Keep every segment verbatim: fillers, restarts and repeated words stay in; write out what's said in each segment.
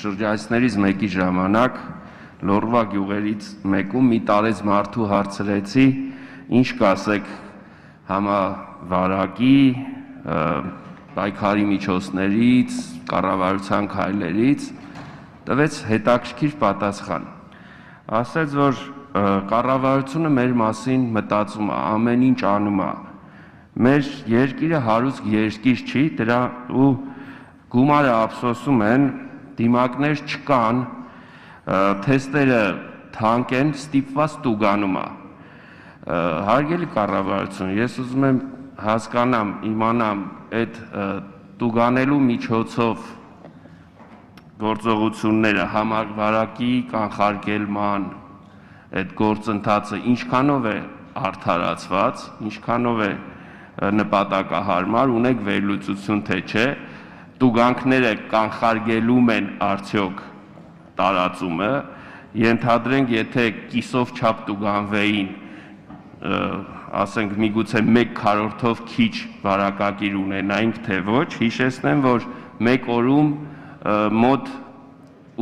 շրջայցներից մեկի ժամանակ Լոռվա գյուղերից մեկում մի տարեց մարդու հարցրեցի, ինչ կասեք համավարակի, պայքարի միջոցներից, կառավարության քայլերից, տվեց հետաքրքիր պատասխան։ Ասեց, որ կառավարությունը մեր մասին մտածում է, ամեն ինչ անում է։ Մեր երկիրը հարուստ երկիր չի, դրա ու գումարը ափսոսում են, դիմակներ չկան, թեստերը թանկ են, ստիպված տուգանում է։ Հարգելի կառավարություն, ես ուզում եմ հասկանամ, իմանամ այդ տուգանելու միջոցով գործողությունները համավարակի կանխարգելման այդ գործընթացը ինչքանով է արդարացված, ինչքանով է նպատակահարմար, ունեք վերլուծություն թե չէ, տուգանքները կանխարգելում են արդյոք տարածումը, ենթադրենք, եթե կիսով չափ տուգանվեին, ասենք միգուցե մեկ քառորդով քիչ վարակագիր ունենայինք, թե ոչ, հիշեցնեմ, որ մեկ օրում մոտ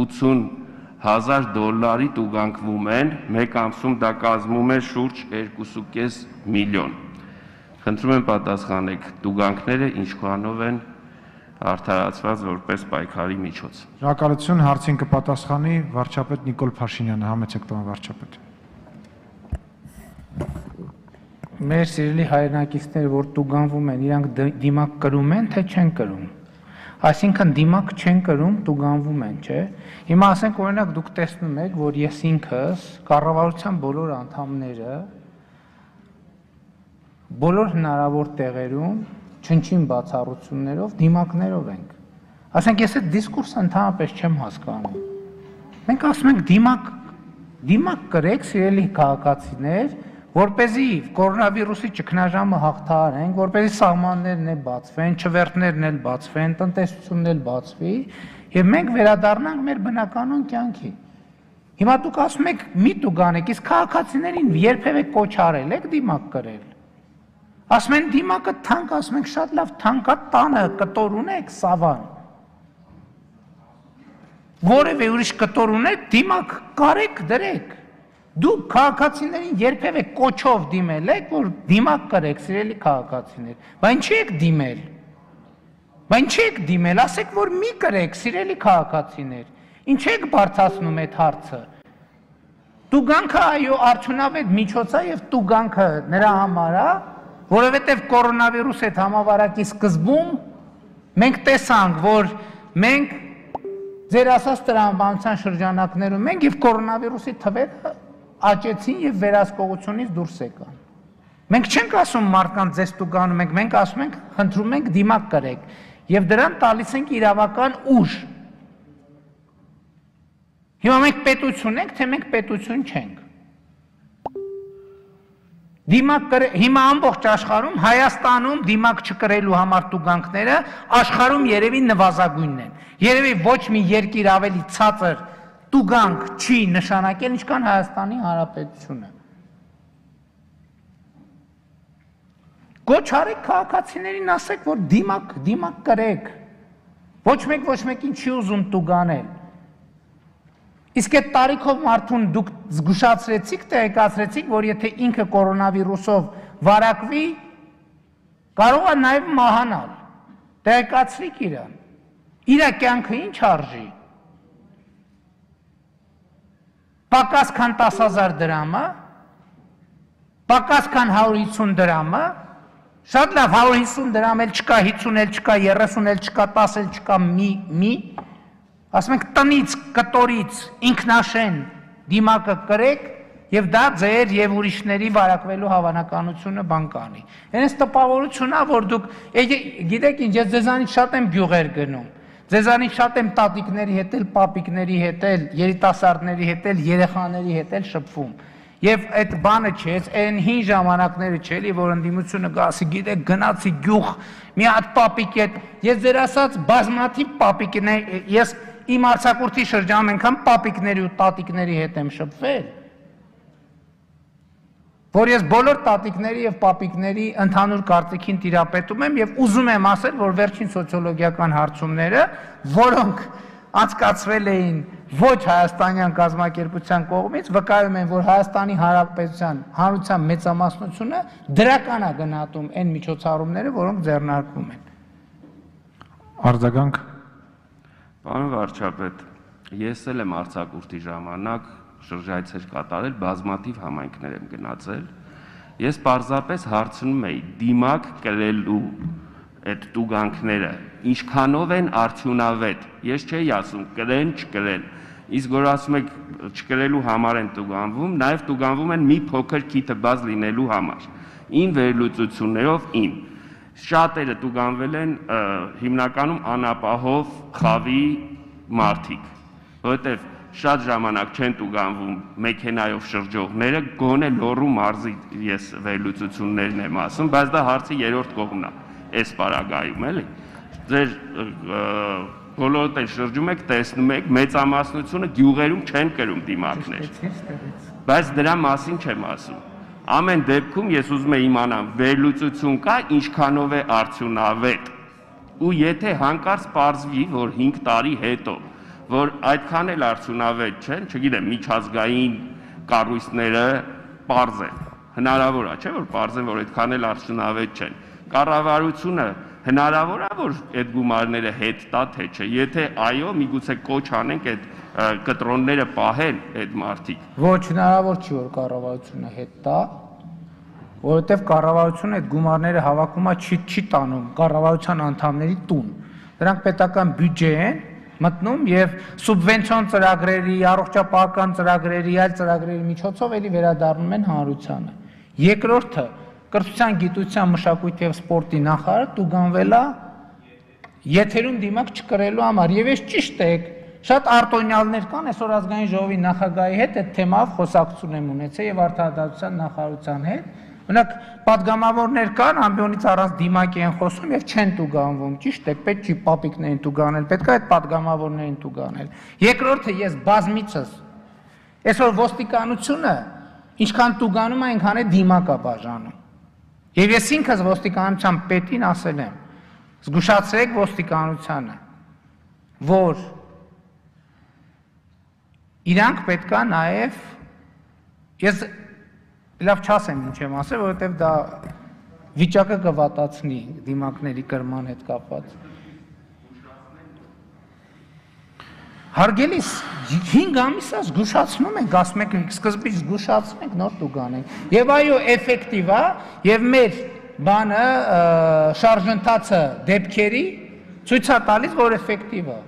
ութուն հազար դոլարի տուգանքվում են, մեկ ամսում դա կազմում է շուրջ երկու կես միլիոն։ Խնդրում եմ պատասխանեք, տուգանքները ինչքանով են արդարացված որպես պայքարի միջոց։ Շնորհակալություն, հարցին կպատասխանի վարչապետ Նիկոլ Փաշինյանը, համեցեք պարոն վարչապետ։ Մեր սիրելի հայրենակիցներ, որ տուգանվում են, իրանք դիմակ կրում են, թե չեն կրում։ Այսինքն դիմակ չեն կրում, տուգանվում են, չէ։ Հիմա ասենք օրինակ դուք տեսնում եք, որ ես ինքս կառավարության բոլոր անդամները բոլոր հնարավոր տեղերում չնչին բացառություններով դիմակներով ենք։ Ասենք ես այդ դիսկուրսը ընդհանրապես չեմ հասկանում։ Մենք ասում ենք դիմակ, դիմակ կրեք, սիրելի քաղաքացիներ, որպեսզի կորոնավիրուսի ճգնաժամը հաղթահարենք, որպեսզի սահմաններն էլ բացվեն, չվերթներն էլ բացվեն, տնտեսությունն էլ բացվի, եւ մենք վերադառնանք մեր բնականon կյանքի։ Հիմա դուք ասում եք մի տուգանեք, իսկ քաղաքացիներին երբևէ կոչ արել եք դիմակ կրել։ Ասում են դիմակը թանկ, ասում ենք շատ լավ, թանկա տանը կտոր ունեք, սավան։ Որևէ ուրիշ կտոր ունեք, դիմակ կարեք, դրեք։ Դուք քաղաքացիներին երբևէ կոչով դիմել եք, որ դիմակ կրեք, սիրելի քաղաքացիներ, բայց ինչի եք դիմել։ Բայց ինչի եք դիմել, ասեք, որ մի կրեք, սիրելի քաղաքացիներ։ Ինչ եք բարձրացնում այդ հարցը։ Տուգանքը այո արդյունավետ միջոց է եւ տուգանքը նրա համար է, որովհետեւ կորոնավիրուսի հետ համավարակի սկզբում մենք տեսանք, որ մենք ձեր ասած տրամաբանության շրջանակներում ենք եւ կորոնավիրուսի թվերը աճեցին եւ վերահսկողությունից դուրս եկան։ Մենք չենք ասում մարդկանց ձեզ տուգանում ենք, մենք ասում ենք խնդրում ենք դիմակ կրեք եւ դրան տալիս ենք իրավական ուժ։ Հիմա մենք պետություն ենք, թե մենք պետություն չենք։ Դիմակ կրե, հիմա ամբողջ աշխարհում, Հայաստանում դիմակ չկրելու համար տուգանքները աշխարհում երևի նվազագույնն են։ Երևի ոչ մի երկիր ավելի ցածր տուգանք չի նշանակել, ինչքան Հայաստանի Հանրապետությունը։ Կոչ արեք քաղաքացիներին, ասեք, որ դիմակ, դիմակ կրեք։ Ոչ մեկ ոչ մեկին չի ուզում տուգանել։ Իսկ այդ տարիքով մարդուն դուք զգուշացրեցիք, տեղեկացրեցիք, որ եթե ինքը կորոնավիրուսով վարակվի, կարող է նաև մահանալ։ Տեղեկացրիք իրան։ Իր կյանքը ինչ արժի։ Պակաս քան տասը հազար դրամը, պակաս քան հարյուր հիսուն դրամը, շատ լավ հարյուր հիսուն դրամ էլ չկա, հիսուն էլ չկա, երեսուն էլ չկա, տասը էլ չկա, մի, մի, ասում ենք տնից, կտորից, ինքնաշեն դիմակը կրեք եւ դա ձեր եւ ուրիշների վարակվելու հավանականությունը բան կանի։ Հենց տպավորությունն է, որ դուք, գիտեք ինչ, ես ձեզանից շատ եմ գյուղեր գնում, ձեզանից շատ եմ տատիկների հետ էլ, պապիկների հետ էլ, երիտասարդների հետ էլ, երեխաների հետ էլ շփվում։ Եվ այդ բանը չէ, այն հին ժամանակները չէ, էլի որ ընդդիմությունը գասի, գիտեք, գնացի գյուղ, մի հատ պապիկ հետ, ես ձեր ասած բազմաթիվ պապիկներ, ես իմ արձակուրդի շրջանում անգամ պապիկների ու տատիկների հետ եմ շփվել, որ ես բոլոր տատիկների եւ պապիկների ընդհանուր կարծիքին տիրապետում եմ եւ ուզում եմ ասել, որ վերջին սոցիոլոգիական հարցումները, որոնք անցկացվել էին ոչ հայաստանյան կազմակերպության կողմից, վկայում են, որ Հայաստանի Հանրապետության հանրության մեծամասնությունը դրական է գնահատում այն միջոցառումները, որոնք ձեռնարկվում են։ Արձագանք։ Պարոն վարչապետ, ես էլ եմ արձակուրդի ժամանակ շրջայցեր կատարել, բազմաթիվ համայնքներ եմ գնացել։ Ես պարզապես հարցնում էի դիմակ կրելու այդ տուգանքները ինչքանով են արդյունավետ։ Ես չէի ասում կրեն, չկրեն։ Իսկ որ ասում եք չկրելու համար են տուգանվում, նաև տուգանվում են մի փոքր քիթը բաց լինելու համար։ Իմ վերլուծություններով իմ շատերը տուգանվել են հիմնականում անապահով խավի մարդիկ, որովհետև շատ ժամանակ չեն տուգանվում մեքենայով շրջողները, գոնե Լոռու մարզի ես վերլուծություններն եմ ասում, բայց դա հարցի երրորդ կողմն է, այս պարագայում էլի։ Ձեր բոլորդ են շրջում եք, տեսնում եք, մեծամասնությունը գյուղերում չեն կրում դիմակներ, բայց դրա մասին չեմ ասում։ Ամեն դեպքում ես ուզում եմ իմանամ վերլուծություն կա, ինչքանով է արդյունավետ, ու եթե հանկարծ պարզվի, որ հինգ տարի հետո որ այդքան էլ արդյունավետ չեն, չգիտեմ, միջազգային կառույցները պարզ են, հնարավոր է, չէ՞ որ պարզ են, որ այդքան էլ արդյունավետ չեն։ Կառավարությունը հնարավոր է, որ այդ գումարները հետ տա, թե չէ։ Եթե այո, միգուցե կոչ անենք այդ կտրոնները պահեն այդ մարդիկ։ Ոչ, հնարավոր չի, որ կառավարությունը հետ տա, որովհետև կառավարությունը այդ գումարները հավաքում է չի չի տանում կառավարության անդամների տուն։ Դրանք պետական բյուջե են մտնում եւ սուբվենցիոն ծրագրերի, առողջապահական ծրագրերի, այլ ծրագրերի միջոցով էլի վերադառնում են հանրությանը։ Երկրորդը կրթության, գիտության, մշակույթի եւ սպորտի նախարարը տուգանվել է եթերում դիմակ չկրելու համար եւ ես ճիշտ եք շատ արտոնյալներ կան այսօր ազգային ժողովի նախագահի հետ այդ թեմայով խոսակցություն եմ ունեցել եւ արդարադատության նախարարության հետ։ Օրինակ պատգամավորներ կան, ամբիոնից առանց դիմակի են խոսում եւ չեն տուգանվում։ Ճիշտ է, պետք չի պապիկներին տուգանել, պետք է այդ պատգամավորներին տուգանել։ Երկրորդը ես բազմիցս այսօր ոստիկանությունը ինչքան տուգանում է, այնքան է դիմակ է բաժանում։ Եվ ես ինքս ոստիկանության պետին ասել եմ. զգուշացրեք ոստիկանությանը, որ իրանք պետք է նաեւ ես լավ չասեմ ինչ եմ ասել, որովհետև դա վիճակը կվատացնի դիմակների կրման հետ կապված։ Հարգելիս, հինգ ամիս է զգուշացնում ենք, ասում եք սկզբից զգուշացնենք, նոր տուգանենք։ Եվ այո, էֆեկտիվ է, եւ մեր բանը շարժընթացը դեպքերի ցույց է տալիս, որ էֆեկտիվ է։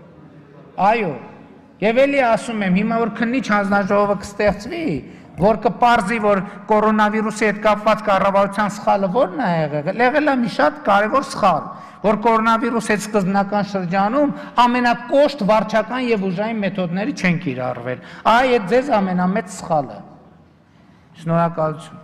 Այո, եւ էլի ասում եմ, հիմա որ քննիչ հանձնաժողովը կստեղծվի, որ կպարզի, որ կորոնավիրուսի հետ կապված կառավարության սխալը ո՞րն է եղել, եղել է մի շատ կարևոր սխալ, որ կորոնավիրուսի հետ սկզբնական շրջանում ամենակոշտ վարչական եւ ուժային մեթոդները չեն կիրառվել։ Այ այդ ձեզ ամենամեծ սխալը։ Շնորհակալություն։